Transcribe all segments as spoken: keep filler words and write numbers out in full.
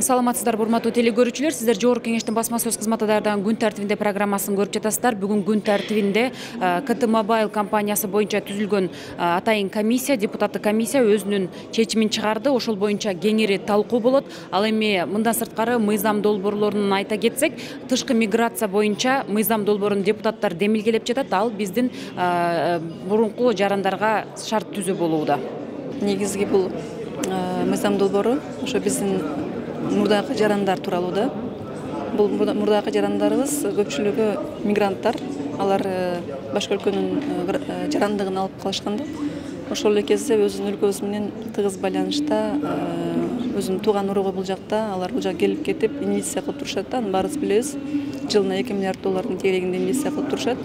Саламатсыздарбы, урматтуу телекөрүүчүлөр. Сиздер Жогорку Кеңештин басма сөз кызматы даярдаган күн тартибинде программасын көрүп жатасыздар. Бүгүн күн тартибинде КТ Мобайл компаниясы боюнча түзүлгөн атайын комиссия, депутаттык комиссия өзүнүн чечимин чыгарды. Ошол боюнча кеңири талкуу болот. Ал эми мындан сырткары мыйзам долбоорлорун айта кетсек, тышкы миграция боюнча мыйзам долбоорун депутаттар демилгелеп жатат. Ал биздин мурунку жарандарга шарт түзүү болууда. Негизги бул мыйзам долбоору ошо биздин мурдагы жарандар тууралуу да. Бул мурдагы жарандарыбыз көпчүлүгү мигранттар. Алар башка өлкөнүн жарандыгын алып калышкан да. Ошол эле кезде өзүнүн өлкөбүз менен тыгыз байланышта, өзүнүн тууган уругу бул жакта, алар бул жака келип кетип инвестиция кылып турушат да. Аны баарыбыз билебиз. Жылына эки миллиард доллардын тегерегинде инвестиция кылып турушат.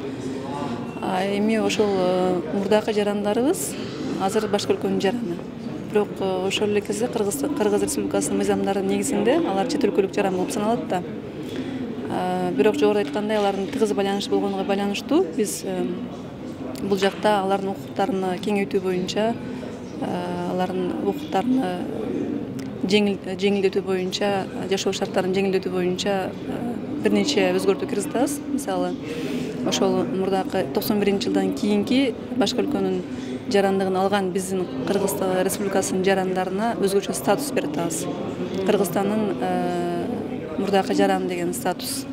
Эми ошол мурдагы жарандарыбыз азыр башка өлкөнүн жараны. Бирок ошол эле кезде Кыргыз Республикасынын мыйзамдарынын негизинде алар чет өлкөлүк жаран болуп саналат да. Бирок жогоруда айткандай, алардын тыгыз байланыш болгонуга байланыштуу биз бул жакта алардын укуктарын кеңейтүү боюнча, алардын укуктарын жеңилдетүү боюнча, жашоо шарттарын жеңилдетүү боюнча бир нече өзгөртүү киргизебиз. Мисалы, ошол мурдакы токсон биринчи жылдан кийинки башка өлкөнүн жарандыгын алган биздин Кыргыз Республикасынын жарандарына өзгөчө статус берип атабыз. Кыргызстандын мурдакы жаран деген статус.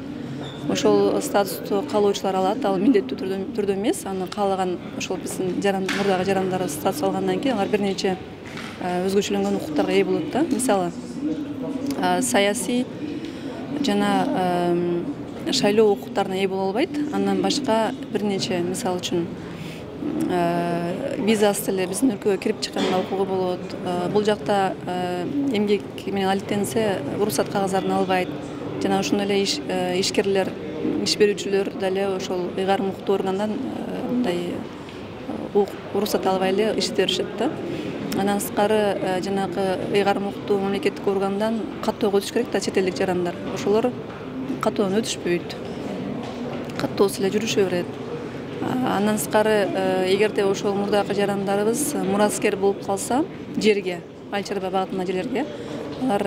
Ошол статусту каалоочулар алат, ал милдеттүү түрдө эмес. Аны каалаган ошол биздин жаран мурдагы жарандар статус алгандан кийин алар бир нече өзгөчөлөнгөн укуктарга ээ болот да. Мисалы, саясий жана шайлоо укуктарына ээ боло албайт. Андан башка бир нече, мисалы үчүн, визасыз эле биздин өлкөгө кирип чыкканга укугу болот. Бул жакта эмгек менен алектенсе уруксат кагаздарын албайт. Жана ошондой эле ишкерлер, иш берүүчүлөр дале ошол ыйгарым укуктуу органдан мындай уруксат албай эле иштей беришет да. Андан сырткары жанагы ыйгарым укуктуу мамлекеттик органдан каттоого өтүш керек да чет элдик жарандар. Ошолор каттоодон өтүшпөйт. Каттоосуз эле жүрүшө берет. Андан сырткары, эгерде ошол мурдагы жарандарыбыз мураскер болуп калса жерге, айыл чарба багытындагы жерлерге, алар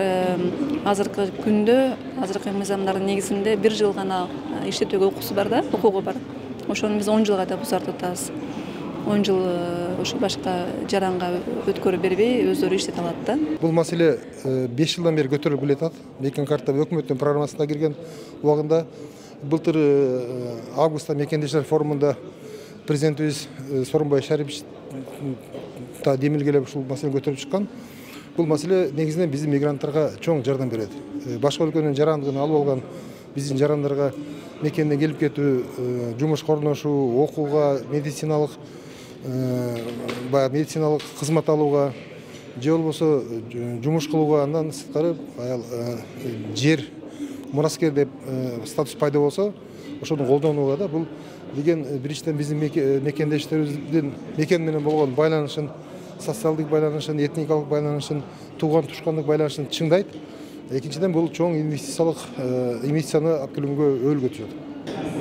азыркы күндө, азыркы мыйзамдардын негизинде бир жыл гана иштетүүгө укугу бар да, укугу бар. Ошону биз он жылга да узартып атабыз. он жыл ошо башка жаранга өткөрүп бербей, өздөрү иштете алат да. Бул маселе беш жылдан бери көтөрүлүп келатат. Мекен карта өкмөттүн программасына кирген убагында. Былтыр августта мекендештер форумунда президентибиз Сооронбай Шарипович та демилгелеп ушул маселени көтөрүп чыккан. Бул маселе негизинен биздин мигранттарга чоң жардам берет. Башка өлкөнүн жарандыгын алып алган биздин жарандарга мекенден келип кетүү, жумуш корношуу, окууга, медициналык баягы медициналык кызмат алууга, же болбосо жумуш кылууга, андан сырткары жер мураскер деп статус пайда болсо, ошону колдонууга да. Бул деген биринчиден биздин мекендештерибиздин мекен менен болгон байланышын, социалдык байланышын, этникалык байланышын, тууган тушкандык байланышын чыңдайт. Экинчиден бул чоң инвестициялык инвестицияны алып келүүгө өбөлгө түзөт.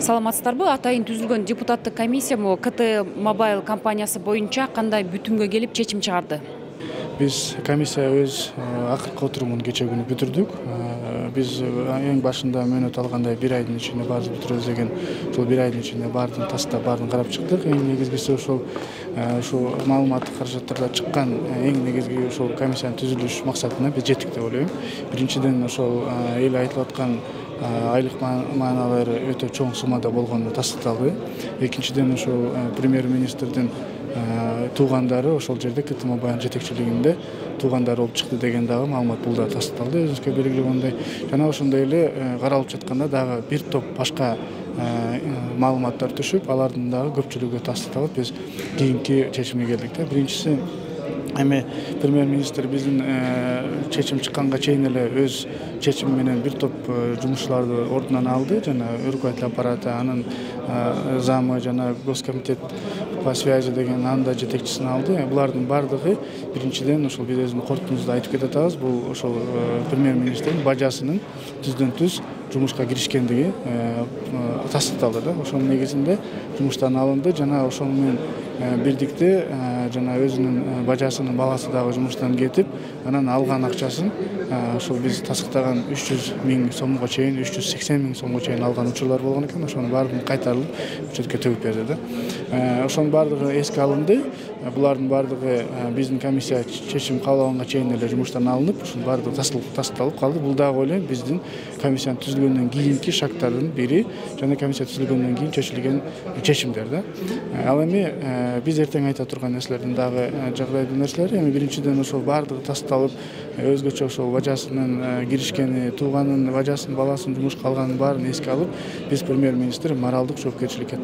Саламатсыздарбы? Атайын түзүлгөн депутаттык комиссия КТ Мобайл компаниясы боюнча кандай бүтүмгө келип чечим чыгарды? Биз комиссия өз акыркы отурумун кече күнү бүтүрдүк. Биз эң башында мөөнөт алгандай бир айдын ичинде баарын бүтүрөбүз деген, ошол бир айдын ичинде баарын тастап, баарын карап чыктык. Эң негизгиси ошол ушул маалыматтык каражаттарда чыккан эң негизги ошол комиссиянын түзүлүш максатына биз жеттик деп ойлойм. Биринчиден ошол эл айтылып аткан айлык мааналары өтө чоң суммада болгону тастыкталды. Экинчиден ошол премьер-министрдин туугандары ошол жерде КТ Мобайл жетекчилигинде туугандары болуп чыкты деген дагы маалымат бул да тастыкталды. Өзүңүзгө белгилегендей, жана ошондой эле каралып жатканда дагы бир топ башка маалыматтар түшүп, алардын дагы көпчүлүгү тастыкталып, биз кийинки чечимге келдик да. Биринчиси, эми премьер-министр биздин чечим чыкканга чейин эле өз чечими менен бир топ жумушчуларды ордунан алды. Жана руководитель аппарата, анын замы жана госкомитет по связи деген анын да жетекчисин алды. Булардын баардыгы биринчиден ошол биз өзүбүздүн корутундубузда айтып кетип атабыз. Бул ошол премьер-министрдин бажасынын түздөн түз жумушка киришкендиги тастыкталды да. Ошонун негизинде жумуштан алынды. Жана ошону менен бирдикте жана өзүнүн бажасынын баласы дагы жумуштан кетип, анан алган акчасын ошол биз тастыктаган үч жүз миң сомго чейин, үч жүз сексен миң сомго чейин алган учурлар болгон экен. Ошонун баардыгын кайтарылып бюджетке төгүп берди да. Ошонун баардыгы эске алынды. Булардын баардыгы биздин комиссия чечим кабыл алганга чейин эле жумуштан алынып, ушунун баардыгы тасталып калды. Бул дагы ойлойм биздин комиссиянын түзүлгөндөн кийинки шарттардын бири жана комиссия түзүлгөндөн кийин чечилген чечимдер да. Ал эми биз эртең айта турган нерселердин дагы жагдайдуу нерселери, эми биринчиден ошол баардыгы тасталып, өзгөчө ошол бажасынын киришкени, тууганын, бажасынын, баласынын жумушка алганын баарын эске алып, биз премьер-министр моралдык жоопкерчиликке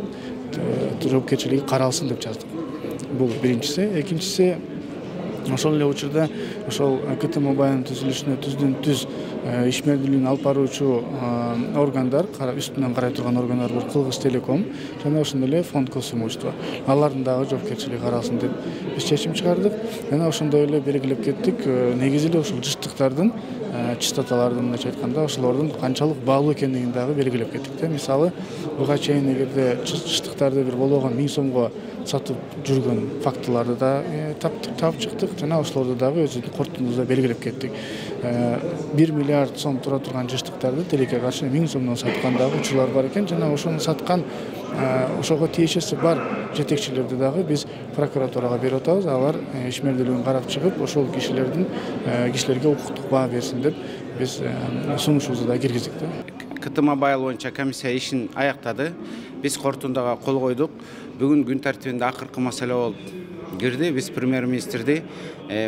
жоопкерчилиги каралсын деп жаздык. Бул биринчиси. Экинчиси, ошол эле учурда ошол КТ Мобайлдын түзүлүшүнө түздөн түз ишмердүүлүгүн алып баруучу органдар, үстүнөн карай турган органдар бар, Кылгыз Телеком жана ошондой эле фонд госимущества. Алардын дагы жоопкерчилиги каралсын деп биз чечим чыгардык. Жана ошондой эле белгилеп кеттик. Негизи эле ушул жыштыктардын, частоталардын мындайча айтканда, ошолордун канчалык баалуу экендигин дагы белгилеп кеттик. Мисалы, буга чейин эгерде жыштыктарды бир болбогон миң сомго сатып жүргөн фактыларды да таап чыктык жана ошолорду дагы өзүбүздүн корутундубузда белгилеп кеттик. бир миллиард сом тура турган жыштыктарды тилекке каршы миң сомдон саткан дагы учурлар бар экен жана ошону саткан, ошого тиешеси бар жетекчилерди дагы биз прокуратурага берип атабыз. Алар ишмердүүлүгүн карап чыгып, ошол кишилердин кишилерге укуктук баа берсин деп биз сунушубузду да киргиздик да. КТ Мобайл боюнча комиссия ишин аяктады. Биз корутундага кол койдук. Бүгүн күн тартибинде акыркы маселе болуп кирди. Биз премьер-министрди,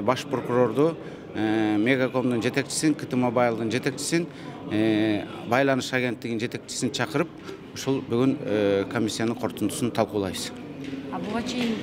баш прокурорду, Мегакомдун жетекчисин, КТ Мобайлдын жетекчисин, байланыш агенттигинин жетекчисин чакырып, ушул бүгүн комиссиянын корутундусун талкуулайбыз. А буга чейин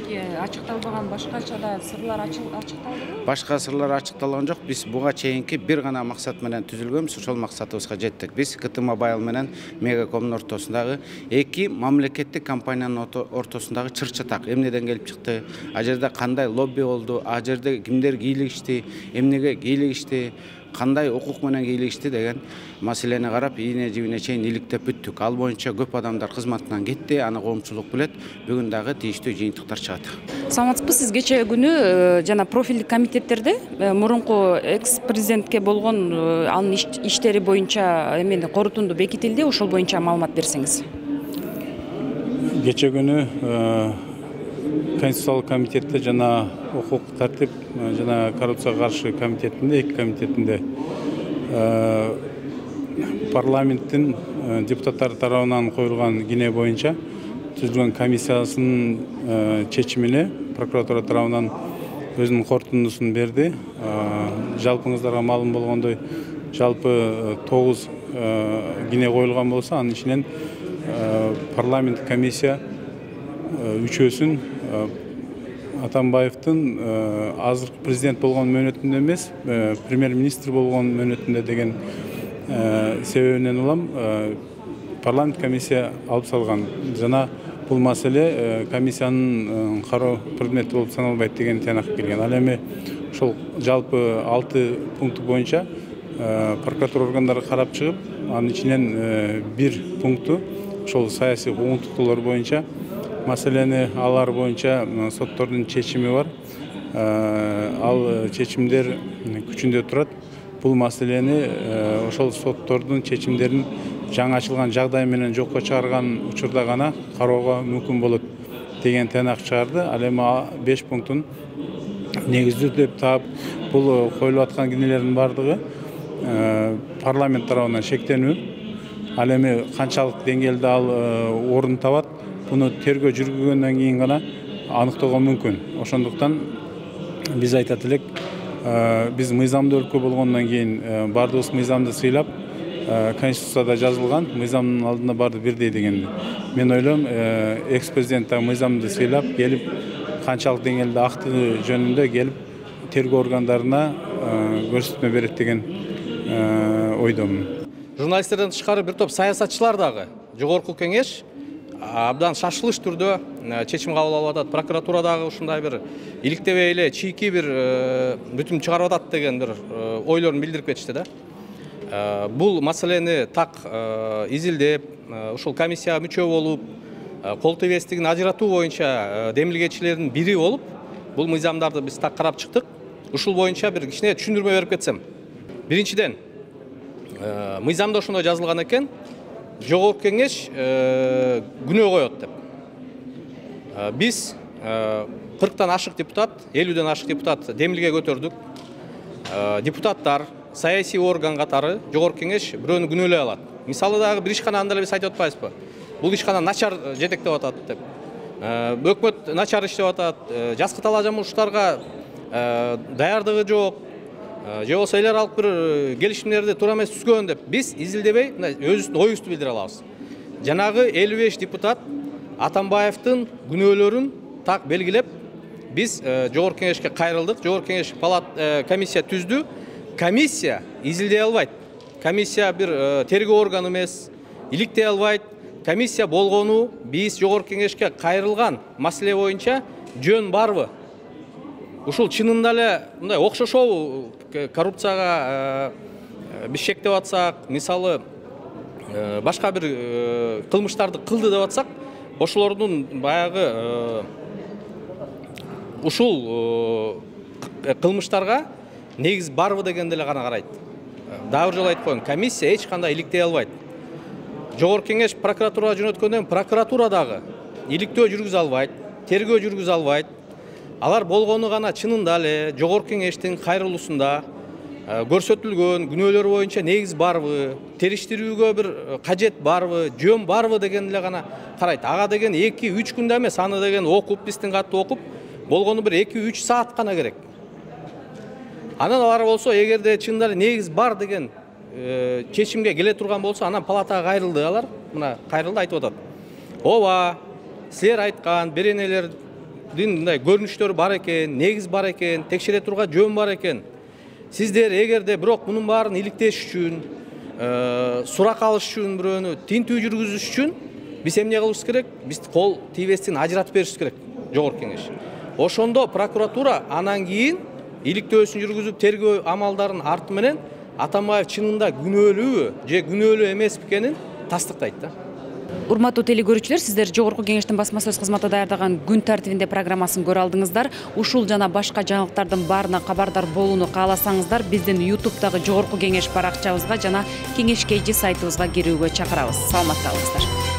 ачыкталбаган башкача да сырлар ачыкталдыбы? Башка сырлар ачыкталган жок. Биз буга чейинки бир гана максат менен түзүлгөнбүз. Ошол максатыбызга жеттик. Биз КТ Мобайл менен Мегакомдун ортосундагы эки мамлекеттик компаниянын ортосундагы чыр-чатак эмнеден келип чыкты, а жерде кандай лобби болду, а жерде кимдер кийлигишти, эмнеге кийлигишти, кандай укук менен кийлигишти деген маселени карап, ийине жибине чейин иликтеп бүттүк. Ал боюнча көп адамдар кызматынан кетти, аны коомчулук билет. Бүгүн дагы тийиштүү жыйынтыктар чыгат. Саламатсызбы, сиз кече күнү жана профилдик комитеттерде мурунку экс-президентке болгон анын иштери боюнча эмени корутунду бекитилди, ошол боюнча маалымат берсеңиз. Кече күнү Конституциялык комитетте жана укук тартип жана коррупцияга каршы комитетинде, эки комитетинде парламенттин депутаттары тарабынан коюлган кине боюнча түзүлгөн комиссиясынын чечимине прокуратура тарабынан өзүнүн корутундусун берди. Жалпыңыздарга маалым болгондой, жалпы тогуз кине коюлган болсо, анын ичинен парламенттик комиссия үчөөсүн Атамбаевдин азыркы президент болгон мөөнөтүндө эмес, премьер-министр болгон мөөнөтүндө деген себебинен улам парламент комиссия алып салган жана бул маселе комиссиянын кароо предмети болуп саналбайт деген тыянак келген. Ал эми ошол жалпы алты пункт боюнча прокуратура органдары карап чыгып, анын ичинен бир пункту ошол саясий куугунтуктуулар боюнча маселени алар боюнча соттордун чечими бар. Ал чечимдер күчүндө турат. Бул маселени ошол соттордун чечимдерин жаңы ачылган жагдай менен жокко чыгарган учурда гана кароого мүмкүн болот деген тыянак чыгарды. Ал эми беш пунктун негиздүү деп таап, бул коюлуп аткан кинелердин баардыгы парламент тарабынан шектенүү. Ал эми канчалык деңгээлде ал орун табат, буну тергөө жүргүзгөндөн кийин гана аныктоого мүмкүн. Ошондуктан биз айтат элек, биз мыйзамдуу өлкө болгондон кийин баардыгыбыз мыйзамды сыйлап, Конституцияда жазылган мыйзамдын алдында баарды бирдей деген. Мен ойлойм, экс-президент да мыйзамды сыйлап келип, канчалык деңгээлде актыгы жөнүндө келип тергөө органдарына көрсөтмө берет деген ойдомун. Журналисттерден тышкары бир топ саясатчылар дагы жогорку кеңеш абдан шашылыш түрдө чечим кабыл алып атат. Прокуратура дагы ушундай бир иликтебей эле чийки бир бүтүм чыгарып атат деген бир ойлорун билдирип кетишти да. Бул маселени так изилдеп, ушул комиссияга мүчө болуп, кол тийбестигин ажыратуу боюнча демилгечилердин бири болуп, бул мыйзамдарды биз так карап чыктык. Ушул боюнча бир кичине түшүндүрмө берип кетсем. Биринчиден, мыйзамда ошондой жазылган экен, жогорку кеңеш күнөө коет деп. Биз кырктан ашык депутат, элүүдөн ашык депутат демилге көтөрдүк. Депутаттар саясий орган катары жогорку кеңеш бирөөнү күнөөлөй алат. Мисалы дагы бир ишкананы деле биз айтып атпайбызбы? Бул ишкана начар жетектеп атат деп. Өкмөт начар иштеп атат, жаскы талаажамуштарга даярдыгы жок, же болбосо эл аралык бир келишимдерди туура эмес түзгөн деп биз изилдебей өзүбүздүн оюбузду билдире алабыз. Жанагы элүү беш депутат Атамбаевдин күнөөлөрүн так белгилеп, биз жогорку кеңешке кайрылдык. Жогорку кеңеш палат комиссия түздү. Комиссия изилдей албайт. Комиссия бир тергөө органы эмес, иликтей албайт. Комиссия болгону биз жогорку кеңешке кайрылган маселе боюнча жөн барбы? Ушул чынында эле мындай окшошобу коррупцияга биз шектеп атсак, мисалы башка бир кылмыштарды кылды деп атсак, ошолордун баягы ушул кылмыштарга негиз барбы дегенди эле гана карайт. Дагы бир жолу айтып коеюн, комиссия эч кандай иликтей албайт. Жогорку кеңеш прокуратурага жөнөткөндөн прокуратура дагы иликтөө жүргүзө албайт, тергөө жүргүзө албайт. Алар болгону гана чынында эле жогорку кеңештин кайрылуусунда көрсөтүлгөн күнөөлөр боюнча негиз барбы, териштирүүгө бир кажет барбы, жөн барбы дегенди эле гана карайт. Ага деген эки үч күндө эмес, аны деген окуп, биздин катты окуп, болгону бир эки үч саат гана керек. Анан алар болсо, эгерде чынында эле негиз бар деген чечимге келе турган болсо, анан палатага кайрылды алар, мына кайрылды айтып атат. Ооба, силер айткан беренелердин мындай көрүнүштөр бар экен, негиз бар экен, текшере турган жөн бар экен. Сиздер эгерде бирок мунун баарын иликтеш үчүн, сурак алыш үчүн, бирөөнү тинтүү жүргүзүш үчүн биз эмне кылышыбыз керек? Биз кол тийбестин ажыратып беришибиз керек жогорку кеңеш. Ошондо прокуратура анан кийин иликтөөсүн жүргүзүп, тергөө амалдарын арты менен Атамбаев чынында күнөөлүүбү же күнөөлүү эмес экенин тастыктайт да. Урматтуу телекөрүүчүлөр, сиздер жогорку кеңештин басма сөз кызматы даярдаган күн тартибинде программасын көрө алдыңыздар. Ушул жана башка жаңылыктардын баарына кабардар болууну кааласаңыздар, биздин ютубтагы жогорку кеңеш баракчабызга жана кеңеш кей жи сайтыбызга кирүүгө чакырабыз. Саламатта болуңуздар.